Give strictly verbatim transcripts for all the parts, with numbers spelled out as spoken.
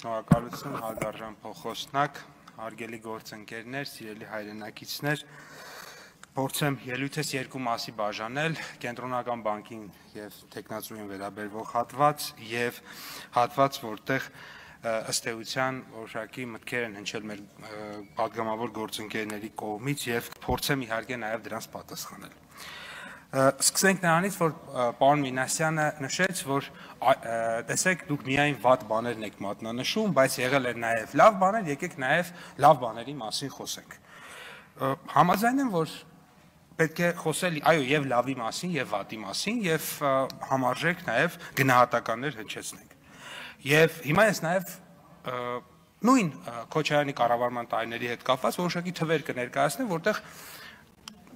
Շնորհակալություն, հարգարժան փոխոստնակ, հարգելի գործընկերներ, սիրելի հայրենակիցներ, փորձեմ ելույթս երկու մասի բաժանել, կենտրոնական բանկին եւ տեխնացուին վերաբերող հատված եւ հատված, որտեղ ըստ էության որոշակի մտքեր են հնչել մեր պատգամավոր գործընկերների կողմից եւ փորձեմ իհարկե նաեւ դրանց պատասխանել։ Սկսենք նրանից, որ պարոն Մինասյանը նշեց, որ տեսեք դուք միայն վատ բաներն եք մատնանշում, բայց եղել են նաև լավ բաներ, եկեք նաև լավ բաների մասին խոսենք։ Համաձայն եմ, որ պետք է խոսել այո եւ լավի մասին եւ վատի մասին եւ համարժեք նաև գնահատականներ հնչեցնենք։ Եվ հիմա ես նաև նույն Քոչարյանի կառավարման տարիների հետ կապված որոշակի թվեր կներկայացնեմ, որտեղ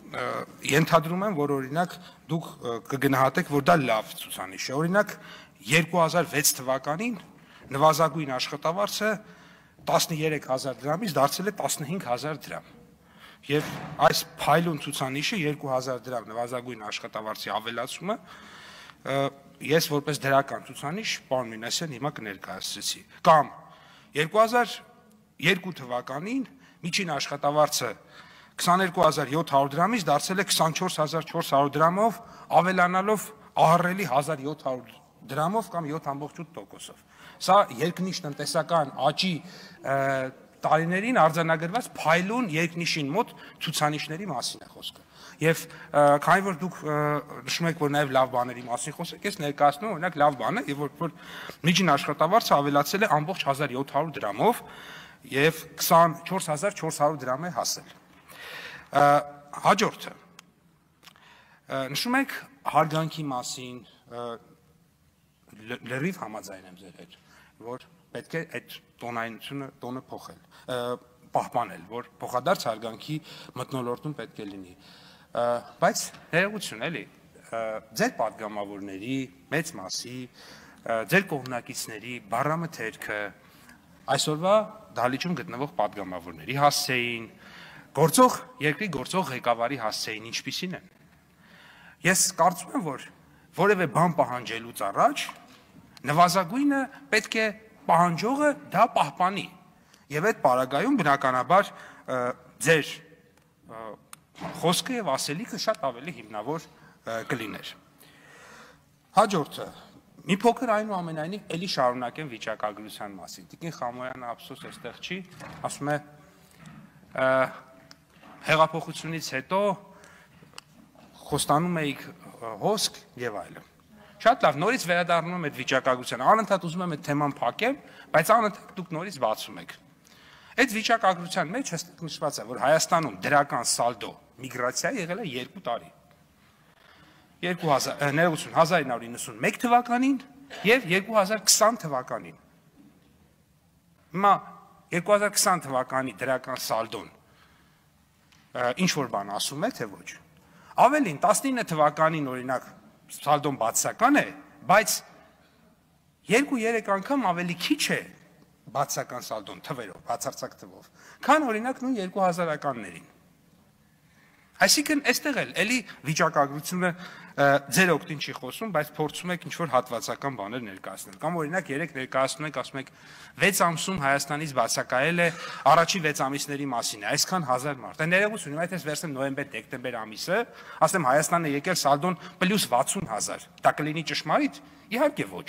ենթադրում եմ, որ օրինակ դուք կգնահատեք, որ դա լավ ցուցանիշ է։ Օրինակ երկու հազար վեց թվականին նվազագույն աշխատավարձը տասներեք հազար դրամից դարձել է տասնհինգ հազար դրամ։ Եվ այս փայլուն ցուցանիշը երկու հազար դրամ նվազագույն աշխատավարձի ավելացումը ես որպես դրական ցուցանիշ պարոն Մինասյան հիմա կներկայացրեցի։ Կամ երկու հազար երկու թվականին միջին աշխատավարձը քսաներկու հազար յոթ հարյուր դրամից դարձել է քսանչորս հազար չորս հարյուր դրամով, ավելանալով ահռելի հազար յոթ հարյուր դրամով կամ յոթ ամբողջ ութ տոկոսով։ Սա երկնիշ տնտեսական աճի տարիներին արձանագրված փայլուն երկնիշին մոտ ցուցանիշների մասին է խոսքը։ Եվ քանի որ դուք նշում եք, որ նաև լավ բաների մասին խոսեք, ես ներկայացնում եմ օրինակ լավ բանը, եւ որ միջին աշխատավարձը ավելացել է ամբողջ հազար յոթ հարյուր դրամով եւ քսանչորս հազար չորս հարյուր դրամ է հասել։ Հաջորդը նշում եք հարգանքի մասին, լրիվ համաձայն եմ ձեր հետ, որ պետք է այդ տոնայնությունը տոնը փոխել, պահպանել, որ փոխադարձ հարգանքի մթնոլորտում պետք է լինի, բայց ներողություն էլի, ձեր պատգամավորների մեծ մասի, ձեր կողմնակիցների բառամթերքը այսօրվա դահլիճում գտնվող պատգամավորների հասցեին, գործող երկրի գործող ղեկավարի հասցեին ինչպիսին են։ Ես կարծում եմ, որ որևէ բան պահանջելուց առաջ նվազագույնը պետք է պահանջողը դա պահպանի եւ այդ պարագայում բնականաբար ձեր խոսքը եւ ասելիքը շատ ավելի հիմնավոր կլիներ։ Հաջորդը մի փոքր այնուամենայնիվ էլի շարունակեմ վիճակագրության մասին։ Տիկին Խամոյանը ափսոս այստեղ չի, ասում է հեղափոխությունից հետո խոստանում էիք հոսք եւ այլն։ Շատ լավ, նորից վերադառնում եմ այդ վիճակագրությանը, անընդհատ ուզում եմ այդ թեման փակեմ, բայց անընդհատ դուք նորից բացում եք։ Այդ վիճակագրության մեջ հստակ նշված է, որ Հայաստանում դրական սալդո միգրացիա եղել է երկու տարի։ երկու հազար ներողություն հազար իննսուն իննսունմեկ թվականին եւ երկու հազար քսան թվականին։ Հիմա երկու հազար քսան թվականի դրական սալդոն ինչ որ բան ասում է, թե ոչ։ Ավելին տասնինը թվականին օրինակ սալդոն բացական է, բայց երկու-երեք անգամ ավելի քիչ է բացական սալդոն թվերով, բացարձակ թվով, քան օրինակ նույն երկու հազարականներին։ Այսինքն այստեղ էլ էլի վիճակագրությունը ձեր օգտին չի խոսում, բայց փորձում եք ինչ-որ հատվածական բաներ ներկայացնել։ Կամ օրինակ երեք ներկայացնում եք, ասում եք վեց ամսում Հայաստանից բացակայել է առաջի վեց ամիսների մասին է, այսքան հազար մարդ։ Դա ներողություն, հիմա եթե վերցնեմ նոյեմբեր-դեկտեմբեր ամիսը, ասեմ Հայաստանը եկել սալդոն պլյուս վաթսուն հազար, դա կլինի ճշմարիտ։ Իհարկե ոչ։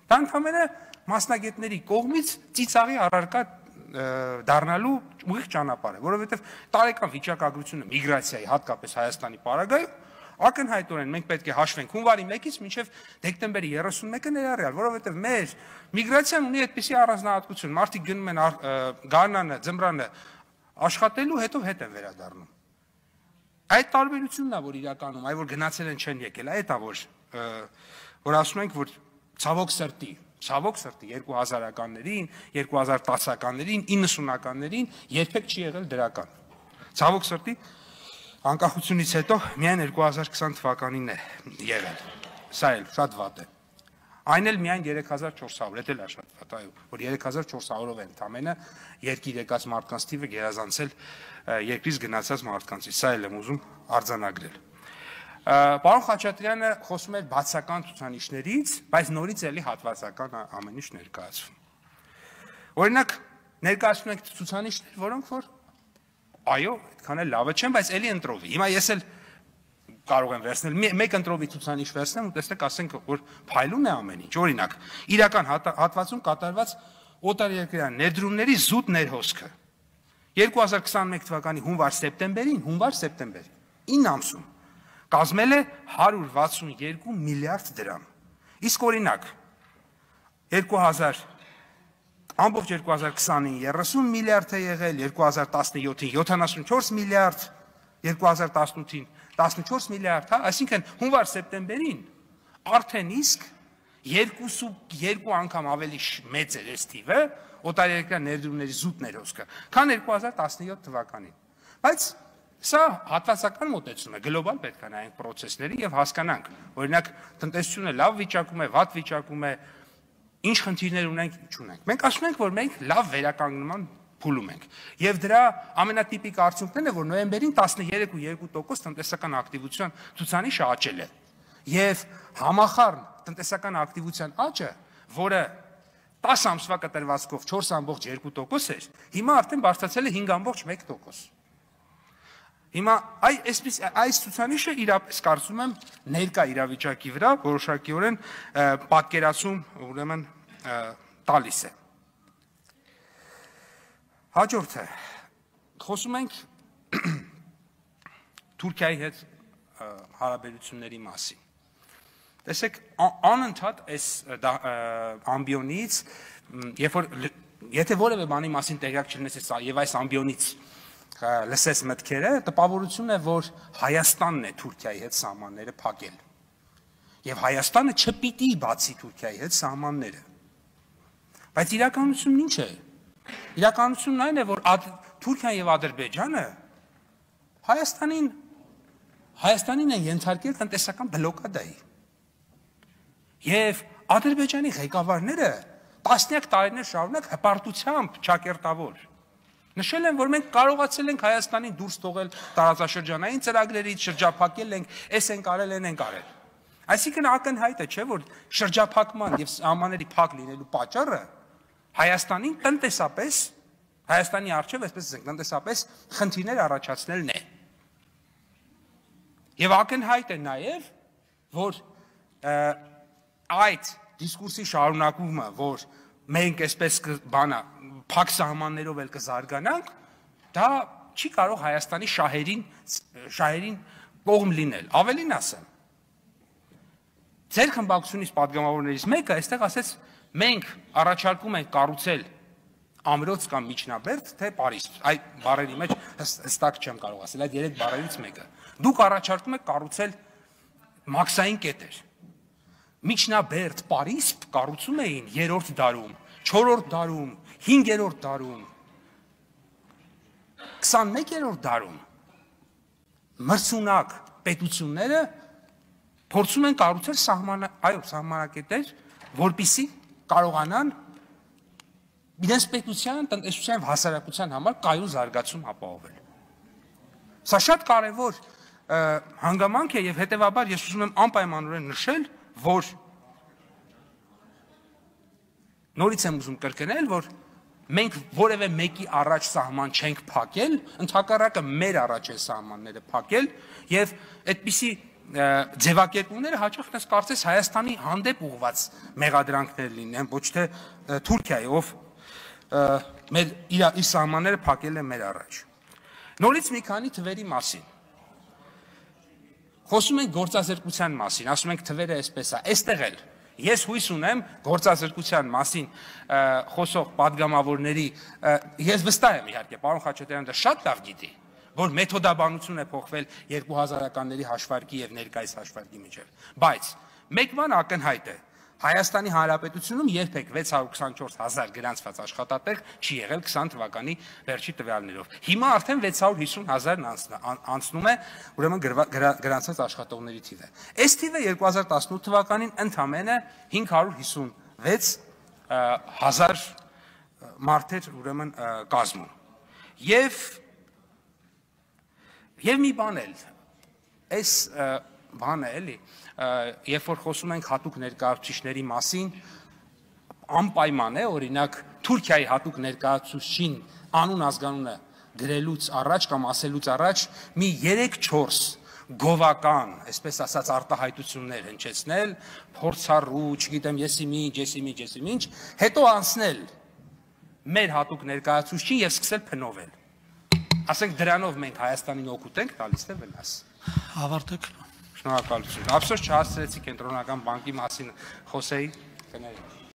Դա ընդհանրապես մասնագետների կողմից ծիծաղի առարկա դառնալու ուղիղ ճանապարհ է, որովհետև տարեկան վիճակագրությունը միգրացիայի հատկապես Հայաստանի պարագայում ակնհայտորեն մենք պետք է հաշվենք հունվարի մեկից մինչև դեկտեմբերի երեսունմեկը ներառյալ, որովհետև մեր միգրացիան ունի այդպիսի առանձնահատկություն, մարդիկ գնում են գարնանը, ձմռանը աշխատելու, հետո հետ են վերադառնում։ Այդ տարբերությունն է, որ իրականում, այ որ գնացել են չեն եկել, այդ է որ որ ասում ենք, որ ցավոք սրտի Ցավոք սրտի երկու հազարականներին, երկու հազար տասականներին, իննսունականներին երբեք չի եղել դրական։ Ցավոք սրտի անկախությունից հետո միայն երկու հազար քսան թվականին է եղել։ Սա էլ շատ վատ է։ Այն էլ միայն երեք հազար չորս հարյուր, դա էլ է շատ վատ, այո, որ երեք հազար չորս հարյուրով են ընդամենը երկիր եկած մարդկանց թիվը գերազանցել երկրից գնացած մարդկանցից։ Սա էլ եմ ուզում արձանագրել։ Պարոն Խաչատրյանը խոսում էր բացական ցուցանիշներից, բայց նորից էլի հատվածական ամեն ինչ ներկայացվում։ Օրինակ, ներկայացնում ենք ցուցանիշներ, որոնք որ այո, այդքան էլ լավը չեն, բայց էլի ընտրովի։ Հիմա ես էլ կարող եմ վերցնել մեկ ընտրովի ցուցանիշ վերցնեմ ու տեսնեք, ասենք, որ փայլում է ամեն ինչ։ Օրինակ, իրական հատվածում կատարված օտարերկրյա ներդրումների զուտ ներհոսքը երկու հազար քսաներկու թվականի հունվար-սեպտեմբերին, հունվար-սեպտեմբերին ինը ամսում կազմել է հարյուր վաթսունյոթ միլիարդ դրամ։ Իսկ օրինակ, երկու հազար ամբողջ երկու հազար քսանին երեսուն միլիարդ է եղել, երկու հազար տասնյոթին յոթանասունչորս միլիարդ, երկու հազար տասնութին տասնչորս միլիարդ, հա, այսինքն հունվար-սեպտեմբերին արդեն իսկ երկու անգամ ավելի մեծ էր այս թիվը օտարերկրյա ներդրումների զուտ ներհոսքը, քան երկու հազար տասնյոթ թվականին։ Բայց սա հատվածական մոտեցում է, գլոբալ պետք է նայենք պրոցեսների եւ հասկանանք, օրինակ տնտեսությունը լավ վիճակում է, վատ վիճակում է, ինչ խնդիրներ ունենք, ինչ ունենք։ Մենք ասում ենք, որ մենք լավ վերականգնման փուլում ենք։ Եվ դրա ամենատիպիկ արդյունքն է, որ նոյեմբերին տասներեք ու երկու տոկոս տնտեսական ակտիվության ցուցանիշը աճել է։ Եվ համախառն տնտեսական ակտիվության աճը, որը տասը ամսվա կտրվածքով չորս ամբողջ երկու տոկոս էր, հիմա արդեն բարձրացել է հինգ ամբողջ մեկ տոկոս։ Հիմա այս ցուցանիշը իրապես կարծում եմ ներկա իրավիճակի վրա որոշակիորեն պատկերացում ուրեմն տալիս է։ Հաջորդը խոսում ենք Թուրքիայի հետ հարաբերությունների մասին։ Տեսեք, անընդհատ այս ամբիոնից, երբ որ եթե որևէ բանի մասին տեղյակ չլինես եւ այս ամբիոնից լսես մտքերը, տպավորությունն է, որ Հայաստանն է Թուրքիայի հետ սահմանները փակել։ Եվ Հայաստանը չպիտի բացի Թուրքիայի հետ սահմանները։ Բայց իրականությունն ինչ է։ Իրականությունն այն է, որ Թուրքիան եւ Ադրբեջանը Հայաստանին Հայաստանին են ենթարկել տնտեսական բլոկադայի։ Եվ Ադրբեջանի ղեկավարները տասնյակ տարիներ շարունակ հպարտությամբ ճակերտավոր նշել են, որ մենք կարողացել ենք Հայաստանին դուրս թողել տարածաշրջանային ծրագրերից, շրջափակել ենք, էս են կարել, են են կարել։ Այսինքն ակնհայտ է, չէ՞, որ շրջափակման եւ սահմանների փակ լինելու պատճառը Հայաստանին տնտեսապես, Հայաստանի առջև, այսպես ասենք, տնտեսապես խնդիրներ առաջացնելն է։ Եվ ակնհայտ է նաեւ, որ այդ դիսկուրսի շարունակումը, որ մենք այսպես բանա փակ սահմաններով էլ կզարգանանք, դա չի կարող Հայաստանի շահերին շահերին կողմ լինել։ Ավելին ասեմ, ձեր խմբակցությունից պատգամավորներից մեկը այստեղ ասեց, մենք առաջարկում ենք կառուցել ամրոց կամ միջնաբերդ, թե Պարիսպ։ Այդ բառերի մեջ հստակ չեմ կարող ասել, այդ երեք բառերից մեկը։ Դուք առաջարկում եք կառուցել մաքսային կետեր։ Միջնաբերդ Պարիսպ կառուցում էին երրորդ դարում, չորրորդ դարում, հինգերորդ դարում, քսանմեկերորդ դարում մրցունակ պետությունները փորձում են կառուցել սահմանակետեր, որպեսզի կարողանան իրենց պետության, տնտեսության եւ հասարակության համար կայուն զարգացում ապահովել։ Սա շատ կարևոր հանգամանք է եւ հետեւաբար ես ուզում եմ անպայմանորեն նշել, որ նորից եմ ուզում կրկնել, որ մենք որևէ մեկի առաջ սահման չենք փակել, ընդհակառակը մեր առաջ է սահմանները փակել եւ այդպիսի ձևակերպումները հաճախ ես կարծես Հայաստանի հանդեպ ուղված մեղադրանքներ լինեն, ոչ թե Թուրքիայի, ով մեր իր սահմանները փակել է մեր առաջ։ Նորից մի քանի թվերի մասին։ Խոսում ենք գործազրկության մասին, ասում ենք թվերը այսպես է, այստեղ էլ ես հույս ունեմ գործազրկության մասին խոսող падգամավորների, ես վստահ եմ իհարկե, պարոն Խաչատրյանը դա շատ լավ գիտի, որ մեթոդաբանություն է փոխվել երկու հազարականների հաշվարկի եւ ներկայիս հաշվարկի միջեւ, բայց մեկ բան ակնհայտ է, Հայաստանի Հանրապետությունում երբեք վեց հարյուր քսանչորս հազար գրանցված աշխատատեղ չի եղել քսան թվականի վերջի տվյալներով։ Հիմա արդեն վեց հարյուր հիսուն հազարն անցնում է, ուրեմն գրանցված աշխատողների թիվը։ Այս թիվը երկու հազար տասնութ թվականին ընդամենը հինգ հարյուր հիսունվեց հազար մարդեր ուրեմն կազմում։ Եվ եւ մի բան էլ, այս բանը էլի, երբ որ խոսում ենք հատուկ ներկայացուցիչների մասին, անպայման է, օրինակ Թուրքիայի հատուկ ներկայացուցչին անուն ազգանունը գրելուց առաջ կամ ասելուց առաջ մի երեք չորս գովական, այսպես ասած արտահայտություններ հնչեցնել, փորձառու, չգիտեմ, եսի ինչ, եսի ինչ, եսի ինչ, հետո անցնել մեր հատուկ ներկայացուցչին եւ սկսել փնովել։ Ասենք դրանով մենք Հայաստանին օգուտ ենք տալիս թե վնաս։ Ավարտեք։ Շնորհակալություն։ Ափսոս չհասցրեցի կենտրոնական բանկի մասին խոսեի։